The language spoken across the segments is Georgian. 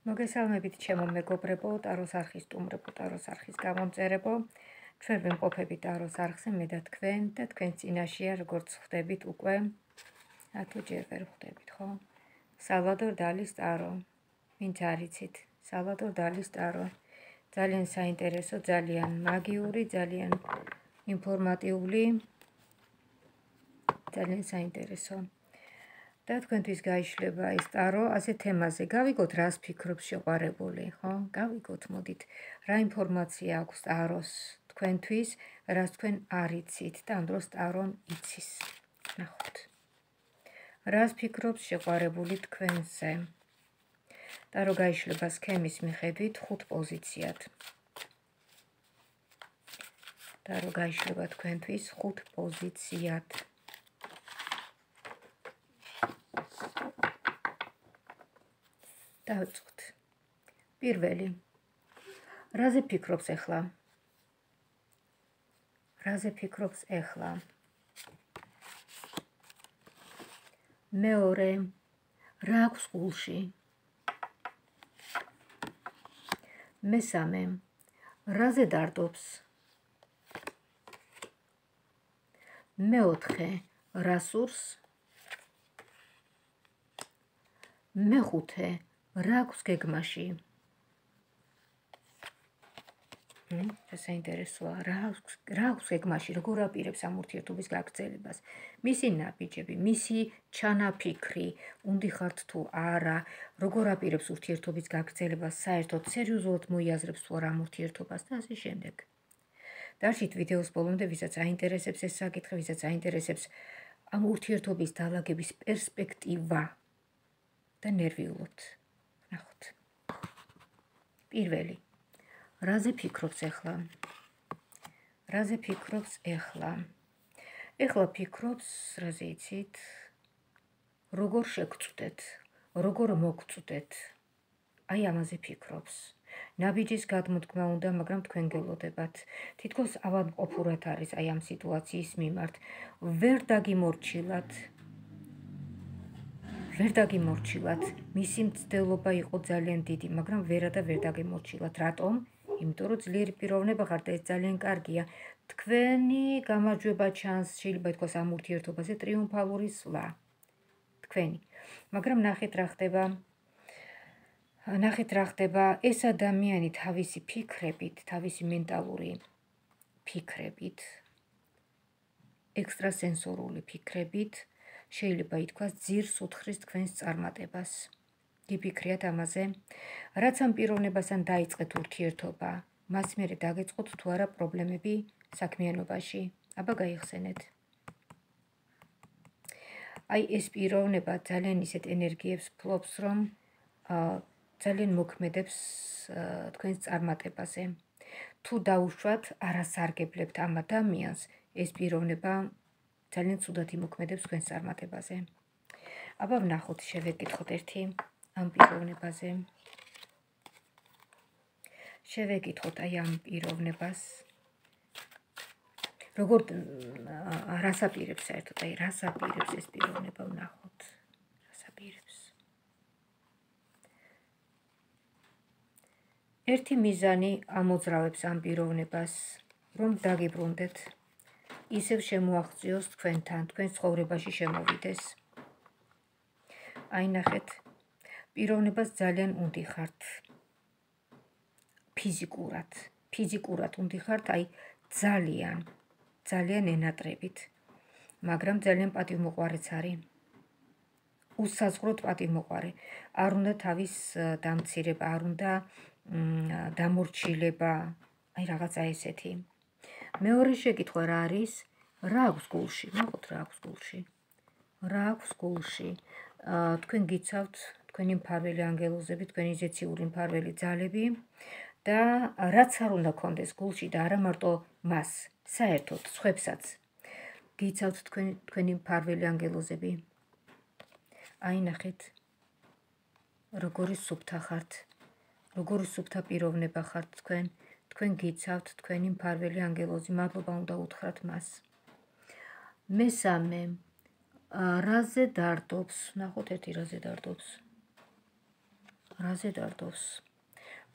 მოგესალმებით ჩემო მეგობრებო, ტაროს არხის სტუმრებო, ტაროს არხის გამომწერებო. ჩვენ ვიმყოფებით ტაროს არხზე მე და თქვენ წინაშეა როგორც ხვდებით უკვე, თუ ჯერ ვერ ხვდებით, ხო? სალვადორ დალის ტარო. ვინც არ იცით, სალვადორ დალის ტარო. ძალიან საინტერესო, ძალიან მაგიური, ძალიან ინფორმატიული, ძალიან საინტერესო. და თქვენთვის გაიშლება ეს ტარო ასე თემაზე. გავიგოთ, რას ფიქრობს შეყვარებული, ხო? გავიგოთ, მოდით, რა ინფორმაცია აქვს ტაროს თქვენთვის, რას თქვენ არ იცით და ამ დროს ტარომ იცის. ნახოთ. რას ფიქრობს შეყვარებული თქვენზე? ტარო გაიშლება სქემის მიხედვით 5 პოზიციად. ტარო გაიშლება თქვენთვის 5 პოზიციად. დავიწყოთ. პირველი. რაზე ფიქრობს ახლა? რაზე ფიქრობს ახლა? მეორე. რა აქვს გულში? მესამე. რაზე დარდობს? მეოთხე. რა სურს? მეხუთე. რა აქვს გეგმაში? საინტერესოა, რა აქვს გეგმაში, როგორ აპირებს ამ ურთიერთობის გაგრძელებას? მისი ნაბიჯები, მისი ჩანაფიქრი, უნდიხართ თუ არა, როგორ აპირებს ურთიერთობის გაგრძელებას, საერთოდ სერიოზულად მოიაზრებს თუ არა ამ ურთიერთობას და ასე შემდეგ. დარჩით ვიდეოს ბოლომდე, ვისაც აინტერესებს ეს საკითხი, ვისაც აინტერესებს ამ ურთიერთობის დალაგების პერსპექტივა და ნერვიულობთ. ნახოთ. პირველი. რაზე ფიქრობს ახლა? რაზე ფიქრობს ახლა? ახლა ფიქრობს, რაზე იცით? როგორ შეგწვდეთ, როგორ მოგწვდეთ. აი ამაზე ფიქრობს. ნაბიჯის გადმოდგმა უნდა, მაგრამ თქვენ გელოდებათ. თითქოს ავადმყოფურად არის აი ამ სიტუაციის მიმართ. ვერ დაგიმორჩილათ. მისი მცდელობა იყო ძალიან დიდი, მაგრამ ვერ დაგიმორჩილათ. რატომ? იმიტომ რომ ძლიერი პიროვნება ხართ და ეს ძალიან კარგია. თქვენი გამარჯვება ჩანს, შეიძლება ითქვას ამ ურთიერთობაზე ტრიუმფალური სვლა. თქვენი. მაგრამ ნახეთ რა ხდება, ეს ადამიანი თავისი ფიქრებით, თავისი მენტალური ფიქრებით, ექსტრასენსორული ფიქრებით, შეიძლება ითქვას ძირს უთხრის თქვენს წარმატებას. გიფიქრიათ ამაზე, რაც ამ პიროვნებასთან დაიწყეთ ურთიერთობა, მას მერე დაგეწყოთ თუ არა პრობლემები საქმიანობაში. აბა გაიხსენეთ. აი ეს პიროვნება ძალიან ისეთ ენერგიებს ფლობს, რომ ძალიან მოქმედებს თქვენს წარმატებაზე. თუ დაუშვათ, არასარგებლებთ ამ ადამიანს, ეს პიროვნება ძალიან ცუდად იმოქმედებს თქვენს წარმატებაზე. აბა ვნახოთ, შევეკითხოთ ერთი ამ პიროვნებაზე. შევეკითხოთ აი ამ პიროვნებას. როგორ რას აპირებს საერთოდ, აი რას აპირებს ეს პიროვნება, ვნახოთ. რას აპირებს? ერთი მიზანი ამოძრავებს ამ პიროვნებას, რომ დაგიბრუნდეთ, ისევ შემოაღწიოს თქვენთან, თქვენ ცხოვრებაში შემოვიდეს. აი ნახეთ, პიროვნებას ძალიან უნდიხართ. ფიზიკურად უნდიხართ, აი ძალიან ენატრებით, მაგრამ ძალიან პატივმოყვარეც არის. უსაზღვროდ პატივმოყვარე. არ უნდა თავის დამცირება, არ უნდა დამორჩილება, აი რაღაცა ესეთი. მეორე შეკითხვა რა არის? რა აქვს გულში? ნახოთ რა აქვს გულში. რა აქვს გულში? თქვენ გიცავთ, თქვენი მფარველი ანგელოზები, თქვენი ზეციური მფარველი ძალები და რაც არ უნდა გქონდეს გულში და არა მარტო მას, საერთოდ სხვებსაც გიცავთ თქვენი მფარველი ანგელოზები. აი ნახეთ, როგორი სუფთა ხართ, როგორი სუფთა პიროვნება ხართ თქვენ გიცავთ თქვენი მფარველი ანგელოზი, მადლობა უნდა უთხრათ მას. მესამე, რაზე დარდობს? ნახოთ ერთი რაზე დარდობს. რაზე დარდობს?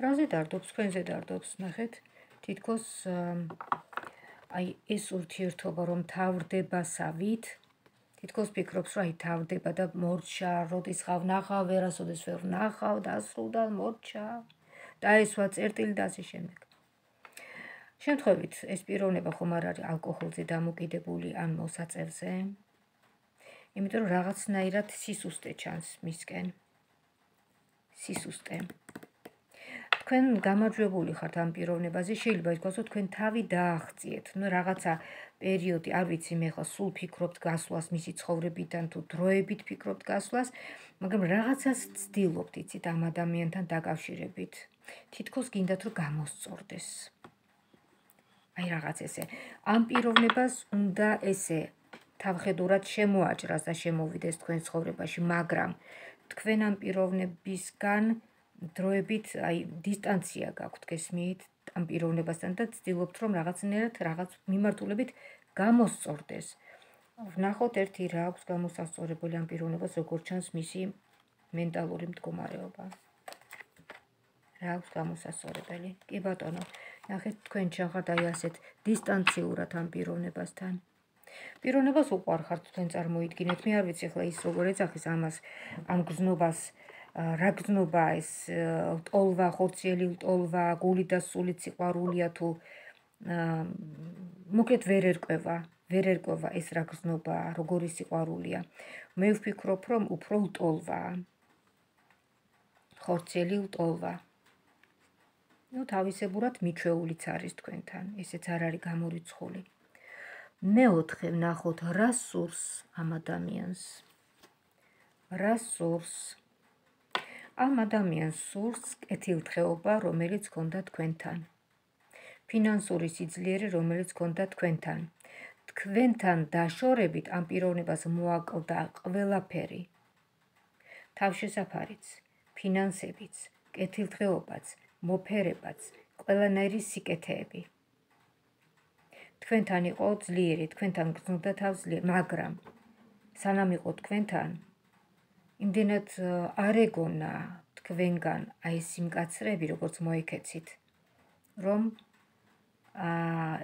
რაზე დარდობს? თქვენზე დარდობს, ნახეთ, თითქოს აი ეს ურთიერთობა რომ თავრდებასავით, თითქოს ფიქრობს, რომ აი თავდება და მორჩა, როდის ხავ ნახავ, ვერასოდეს ვერ ნახავ, დასრულდა, მორჩა, დაესვა წერტილი და ასე შემდეგ. შემთხვევით, ეს პიროვნება ხომ არ არის ალკოჰოლზე დამოკიდებული ან მოსაწევზე, იმიტომ რომ რაღაცნაირად სისუსტე ჩანს მისკენ. სისუსტე. თქვენ გამარჯვებული ხართ ამ პიროვნებაზე, შეიძლება ითქვას, რომ თქვენ თავი დააღწიეთ, ნუ რაღაცა პერიოდი, არ ვიცი, მე ხა სულ ფიქრობთ გასვლას მისი ცხოვრებიდან თუ დროებით ფიქრობთ გასვლას, მაგრამ რაღაცას ცდილობთ, იცით, ამ ადამიანთან დაკავშირებით. თითქოს გინდათ, რომ გამოსწორდეს. აი რაღაც ესე. ამ პიროვნებას უნდა ესე თავხედურად შემოაჭრას და შემოვიდეს თქვენ ცხოვრებაში, მაგრამ თქვენ ამ პიროვნებისგან დროებით აი დისტანცია გაქვთ, გესმით, ამ პიროვნებასთან და ცდილობთ, რომ რაღაცნაირად რაღაც მიმართულებით გამოსწორდეს. ვნახოთ ერთი რა აქვს გამოსასწორებელი ამ პიროვნებას, როგორ ჩანს მისი მენტალური მდგომარეობა. რა აქვს გამოსასწორებელი? კი ბატონო, ნახეთ თქვენ ჩახართ აი ასეთ დისტანციურად ამ პიროვნებასთან. პიროვნებას უყვარხართ თქვენ წარმოიდგინეთ, მე არ ვიცი ახლა ის როგორ ეძახის ამას, ამ გზნობას, რა გზნობა ეს ლტოლვა, ხორციელი ლტოლვა, გული და სულით სიყვარულია თუ მოკლედ ვერ ერკვევა ეს რა გზნობა, როგორი სიყვარულია. მე ვფიქრობ, რომ უფრო ლტოლვაა. ხორციელი ლტოლვა. ნუ თავისებურად მიჩვეულიც არის თქვენთან, ესეც არ არის გამორიცხული. მეოთხე ვნახოთ, რა სურს ამ ადამიანს. რა სურს? ამ ადამიანს სურს კეთილდღეობა, რომელიც ჰქონდა თქვენთან. ფინანსური სიძლიერე, რომელიც ჰქონდა თქვენთან. თქვენთან დაშორებით ამ პიროვნებას მოაკლდა ყველაფერი. თავშესაფარიც, ფინანსებიც, კეთილდღეობაც, მოფერებაც, ყველანაირი სიკეთეები. თქვენთან იყო ძლიერი, თქვენთან გრძნობდა თავს ძლიერი, მაგრამ სანამ იყო თქვენთან, იმდენად არ ეგონა თქვენგან აი ეს სიმკაცრეები, როგორც მოიქეცით, რომ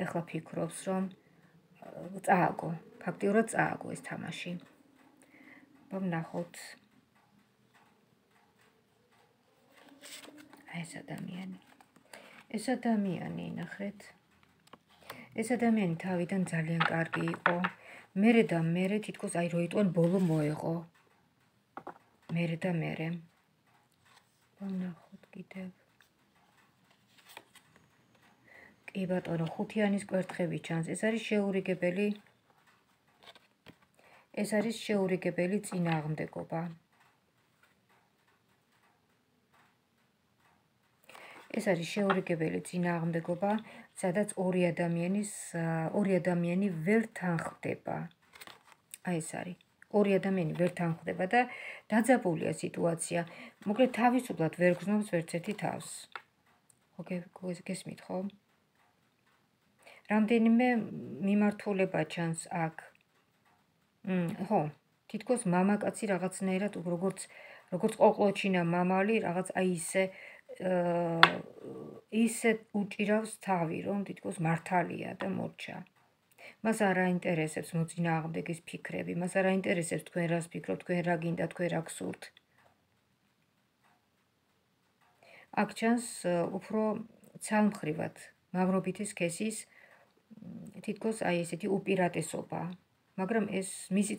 ეხლა ფიქრობს, რომ წააგო, ფაქტიურად წააგო ეს თამაში. ვნახოთ აი ეს ადამიანი. ეს ადამიანი, ნახეთ. ეს ადამიანი თავიდან ძალიან კარგი იყო. მერე და მერე თითქოს აი როიტყვენ ბოლო მოეღო. მერე და მერე. ვნახოთ კიდევ. კი ბატონო, ხუთიანის კვერთხები ჩანს. ეს არის შეურიგებელი. ეს არის შეურიგებელი წინააღმდეგობა. ეს არის შეურიგებელი წინააღმდეგობა, სადაც ორი ადამიანი ვერ თანხდება. აი ეს არის. ორი ადამიანი ვერ თანხდება და დაძაბულია სიტუაცია. მოკლედ თავისუფლად ვერ გრძნობს ვერც ერთი თავს. ხო, გესმით ხო? რამდენიმე მიმართულება ჩანს აქ. ხო, თითქოს მამაკაცი რაღაცნაირად როგორც ყოყლოჩინა მამალი, რაღაც აი ისე უჭირავს თავი, რომ თითქოს მართალია და მორჩა. მას არ აინტერესებს მოწინააღმდეგის ფიქრები, მას არ აინტერესებს თქვენ რას ფიქრობთ, თქვენ რა გინდა, თქვენ რა გსურთ. აქ ჩანს უფრო ცალმხრივად მამრობითი სქესის თითქოს აი ესეთი უპირატესობა, მაგრამ ეს მისი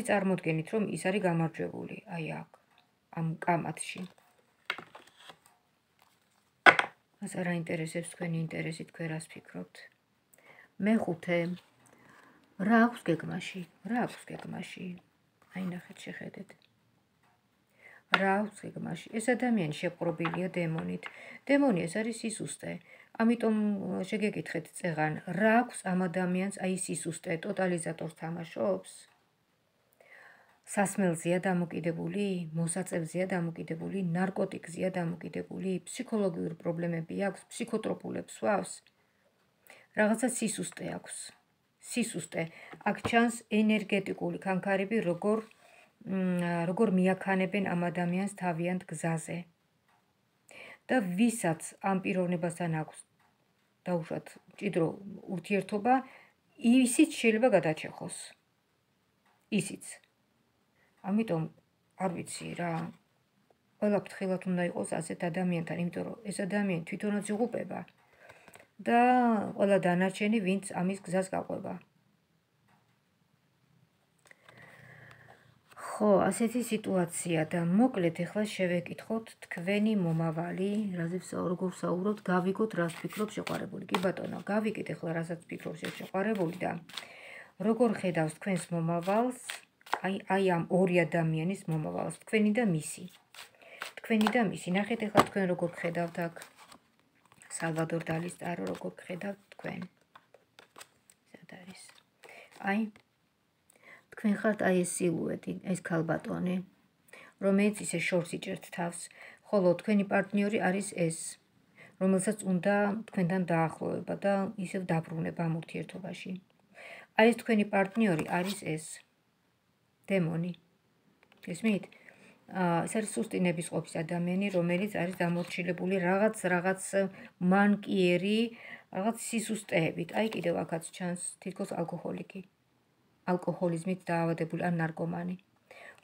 წარმოდგენით, რომ ის არის გამარჯვებული, აი აქ, ამ კამათში. მას არ აინტერესებს თქვენი ინტერესი, თქვენ რას ფიქრობთ. მეხუთე, რა აქვს გეგმაში? აი ნახეთ, შეხედეთ. რა აქვს გეგმაში? ეს ადამიანი შეპყრობილია დემონით. დემონი ეს არის სისუსტე. ამიტომ შეგეკითხეთ წეღან, რა აქვს ამ ადამიანს აი სისუსტე, ტოტალიზატორს თამაშობს? სასმელზეა დამოკიდებული, მოსაწევზეა დამოკიდებული, ნარკოტიკზეა დამოკიდებული, ფსიქოლოგიური პრობლემები აქვს, ფსიქოტროპულებს სვავს. რაღაცა სისუსტე აქვს. სისუსტე. აქ ჩანს ენერგეტიკული ქანქარები, როგორ როგორ მიაქანებენ ამ ადამიანს თავიანთ გზაზე. და ვისაც ამ პიროვნებასთან აქვს დაუშვათ მჭიდრო ურთიერთობა, ისიც შეიძლება გადაჩეხოს. ისიც. ამიტომ არ ვიცი რა. ყველა ფრთხილად უნდა იყოს ასეთ ადამიანთან, იმიტომ რომ ეს ადამიანი თვითონაც იღუპება და ყველა დანარჩენი, ვინც ამის გზას გაყვება. ხო, ასეთი სიტუაცია და მოკლედ ეხლა შევეკითხოთ თქვენი მომავალი, რაზეც როგორ საუბრობთ, გავიგოთ რას ფიქრობს შეყვარებული. კი ბატონო, გავიგეთ ეხლა რასაც ფიქრობს შეყვარებული და როგორ ხედავს თქვენს მომავალს, აი ამ ორი ადამიანის მომავალს, თქვენი და მისი. თქვენი და მისი. ნახეთ ეხლა თქვენ როგორ ხედავთ აქ სალვადორ დალის ტარო, როგორ ხედავთ თქვენ. სად არის? აი თქვენ ხართ აი ეს სილუეტი, ეს ქალბატონი, რომელიც ისე შორს იჭერთ თავს, ხოლო თქვენი პარტნიორი არის ეს, რომელსაც უნდა თქვენთან დაახლოვება და ისევ დაბრუნება ამ ურთიერთობაში. აი ეს თქვენი პარტნიორი არის ეს დემონი. გესმით? ეს არის სუსტი ნებისყოფის ადამიანი, რომელიც არის დამორჩილებული რაღაც მანკიერი, რაღაც სისუსტეებით. აი კიდევ აქაც ჩანს თითქოს ალკოჰოლიკი. ალკოჰოლიზმით დაავადებული ან ნარკომანი,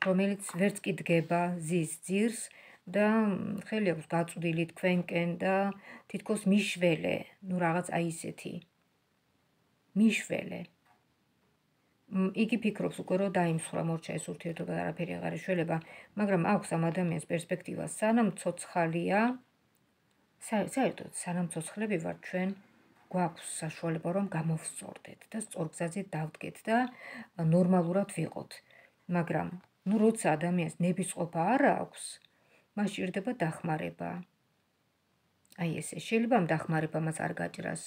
რომელიც ვერც კი დგება, ზის ძირს და ხელი აქვს გაწვდილი თქვენკენ და თითქოს მიშველე, ნუ რაღაც აი ისეთი. მიშველე. იგი ფიქრობს უკვე რომ დაიმსხვრა მორჩა ეს ურთიერთობა და არაფერი აღარ ეშველება, მაგრამ აქვს ამ ადამიანს პერსპექტივა, სანამ ცოცხალია, საერთოდ სანამ ცოცხლები ვართ ჩვენ, გვაქვს საშუალება რომ გამოვსწორდეთ და სწორ გზაზე დავდგეთ და ნორმალურად ვიყოთ. მაგრამ ნუ როცა ადამიანს ნებისყოფა არ აქვს, მას სჭირდება დახმარება. აი ესე, შეიძლება ამ დახმარებამაც არ გაჭრას.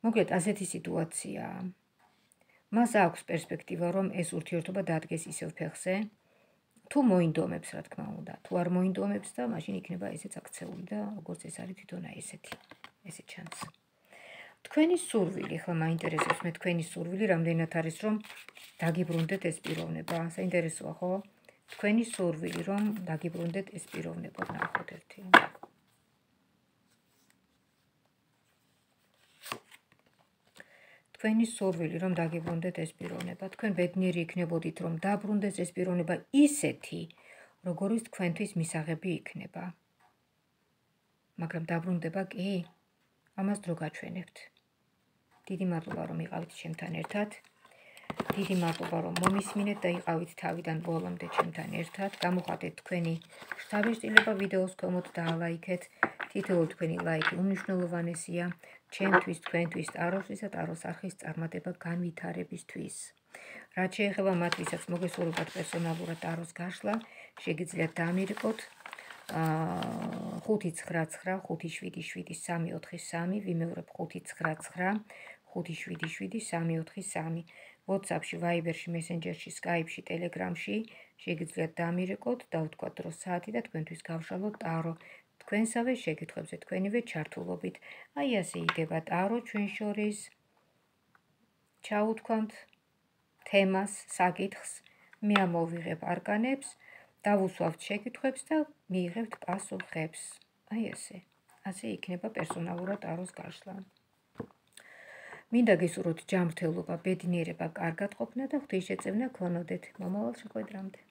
მოკლედ ასეთი სიტუაციაა. მას აქვს პერსპექტივა რომ ეს ურთიერთობა დადგეს ისევ ფეხზე, თუ მოინდომებს რა თქმა უნდა. თუ არ მოინდომებს და მაშინ იქნება ესეც აქცეული და როგორც ეს არის თვითონ აი ესეთი. ესე ჩანს. თქვენი სურვილი, ახლა მაინტერესებს მე თქვენი სურვილი, რამდენად არის რომ დაგიბრუნდეთ ეს პიროვნება. საინტერესოა, ხო? თქვენი სურვილი რომ დაგიბრუნდეთ ეს პიროვნება, ნახოთ ერთი. თქვენი სურვილი რომ დაგიბრუნდეთ ეს პიროვნება. თქვენ ბედნიერი იქნებოდით რომ დაბრუნდეს ეს პიროვნება ისეთი, როგორიც თქვენთვის მისაღები იქნება. მაგრამ დაბრუნდება კი? ამას დრო გაჩვენებთ. დიდი მადლობა რომ იყავით ჩემთან ერთად. დიდი მადლობა რომ მომისმინეთ და იყავით თავიდან ბოლომდე ჩემთან ერთად. გამოხატეთ თქვენი შთაბეჭდილება ვიდეოს ქვემოთ და ალაიქეთ. თითოეული თქვენი ლაიქი უმნიშვნელოვანესია ჩემთვის, თქვენთვის, ტაროსთვის და ტაროს არხის წარმატება განვითარებისთვის. რაც შეეხება მათ, ვისაც მოგესურვებათ პერსონალურად ტაროს გაშლა, შეგიძლიათ დამირეკოთ 599577343, ვიმეორებ 599577343. WhatsApp-ში, Viber-ში, Messenger-ში, Skype-ში, Telegram-ში შეგიძლიათ დამირეკოთ, დავთქვათ დრო საათი და თქვენთვის გავშალოთ ტარო. თქვენსავე შეკითხვებზე თქვენივე ჩართულობით. აი ასე იდება ტარო ჩვენ შორის. ჩაუთქვამთ თემას, საკითხს, მე ამოვიღებ არკანებს, დავუსვავთ შეკითხვებს და მიიღებთ პასუხებს. აი ესე. ასე იქნება პერსონალურად ტაროს გაშლა. მინდა გისურვოთ ჯანმრთელობა, ბედნიერება, კარგად ყოფნა და ღვთისმშეწევნა გქონოდეთ. მომავალ შეხვედრამდე.